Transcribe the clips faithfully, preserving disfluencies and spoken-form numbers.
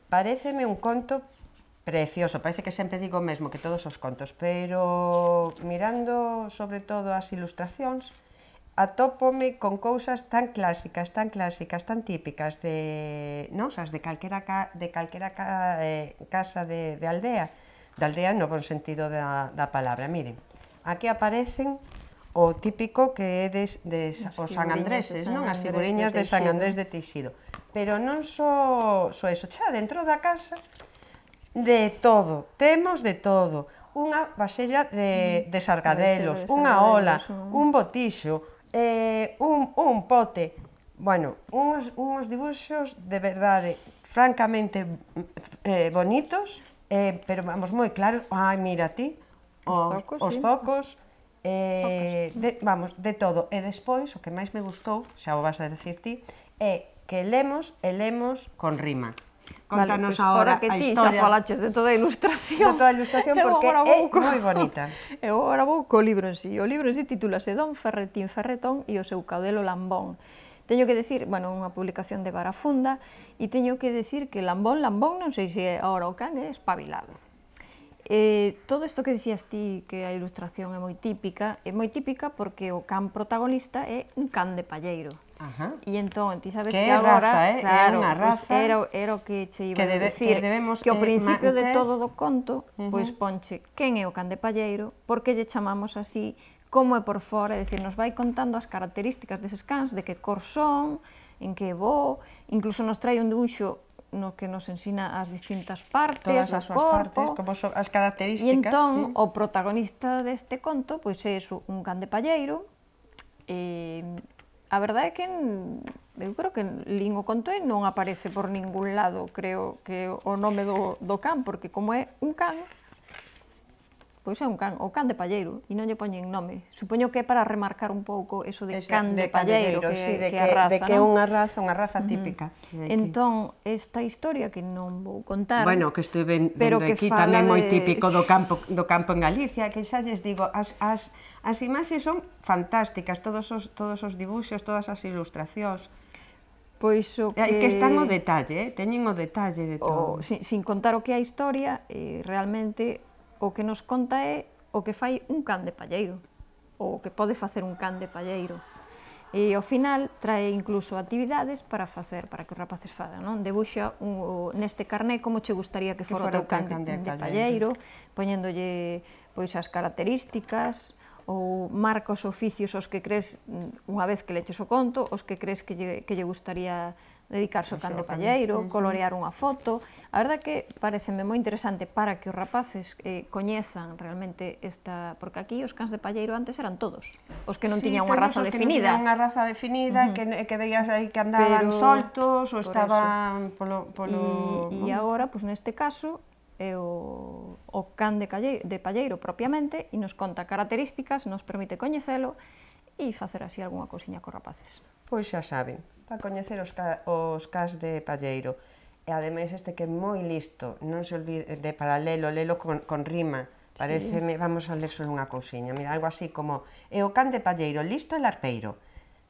Paréceme un conto precioso, parece que sempre digo o mesmo que todos os contos, pero mirando sobre todo as ilustracións, atópome con cousas tan clásicas, tan clásicas, tan típicas de, non, as de calquera, de calquera eh, casa de, de aldea, de aldea no bon sentido da, da palabra. Miren, aquí aparecen o típico que é des, des, os San Andreses, non? As figuriñas de San Andrés de Teixido. Pero non só, só eso, xa dentro da casa, de todo, temos de todo. Unha vasella de, de sargadelos, unha ola, un botixo, eh, un, un pote. Bueno, uns, uns dibuxos de verdade francamente eh, bonitos, eh, pero vamos, moi claros. Ai, mira ti, os, os zocos, eh, de, vamos, de todo. E despois, o que máis me gustou, xa o vas a decir ti, é que lemos e lemos con rima. Contanos agora a historia. Xa falaches de toda a ilustración. De toda a ilustración, porque é moi bonita. Eu agora vou co libro en sí. O libro en sí titúlase Don Ferretín Ferretón e o seu caudelo Lambón. Teño que decir, bueno, unha publicación de Barafunda, e teño que decir que Lambón, Lambón, non sei se agora o can é espabilado. Eh, todo isto que dicías ti, que a ilustración é moi típica, é moi típica porque o can protagonista é un can de palleiro. Ajá. E entón, ti sabes que, que agora, raza, eh? claro, é unha raza pues era, era o que che iba que debe, a decir, que, debemos, que ao principio eh, de todo do conto, uh -huh. pois ponche quen é o can de palleiro, por que lle chamamos así, como é por fora, é dicir, nos vai contando as características deses cans, de que cor son, en que voo, incluso nos trae un dibuixo no que nos ensina as distintas partes, todas as súas partes, como son as características. E entón, sí. O protagonista deste conto, pois é un can de palleiro, e a verdade é que eu creo que lín o conto e non aparece por ningún lado, creo que o nome do, do can, porque como é un can, pois é un can, o can de palleiro, e non lle poñen nome. Supoño que é para remarcar un pouco eso de Ese, can de, de palleiro, que, sí, de que, que é a raza, de que é unha raza, unha raza típica. Uh -huh. Entón, esta historia que non vou contar, bueno, que estou vendo aquí tamén moi típico do campo, do campo en Galicia, que xa lles digo, as, as, as imaxes son fantásticas, todos os, todos os dibuxos, todas as ilustracións. Pois o que... que están o detalle, eh? Teñen o detalle de todo. O, sin, sin contar o que é a historia, eh, realmente o que nos conta é o que fai un can de palleiro, ou o que pode facer un can de palleiro. E ao final trae incluso actividades para facer, para que os rapaces fagan, non? Debuxa un, neste carné como che gustaría que fora o teu can de, de palleiro, poñéndolle pois as características, ou marca os oficios os que crees, unha vez que leches o conto, os que crees que lle, que lle gustaría dedicarse ao can de palleiro, colorear unha foto. A verdade que pareceme moi interesante para que os rapaces eh, coñezan realmente esta... Porque aquí os cans de palleiro antes eran todos, os que non sí, tiñan unha raza os definida. Que non tiñan unha raza definida, uh -huh. que, que veías aí que andaban Pero, soltos, ou estaban polo... polo... E, e agora, pois neste caso, é o, o can de, calle, de palleiro propiamente, e nos conta características, nos permite coñecelo, e facer así algunha cousiña cos rapaces. Pois xa saben, para coñecer os, ca, os cas de palleiro. E ademais este que é moi listo, non se olvide de paralelo, lelo con, con rima, pareceme, sí. Vamos a ler só unha cousiña, mira, algo así como é o can de palleiro, listo e larpeiro,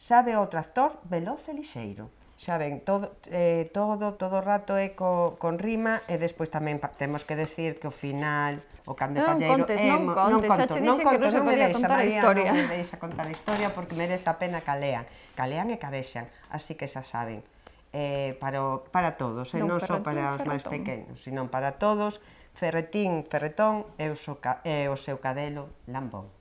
sabe o tractor, veloz e lixeiro. Xa ven, todo, eh, todo, todo o rato é co, con rima, e despois tamén temos que decir que ao final o can de palleiro... Non contes, non contes, xa che dixen que non se podía contar a historia. Non me deixa contar a historia porque merece a pena que lean, que lean e que a vexan, así que xa saben, eh, para, para todos, e non só para os máis pequenos, sino para todos, Ferretín Ferretón e o seu cadelo Lambón.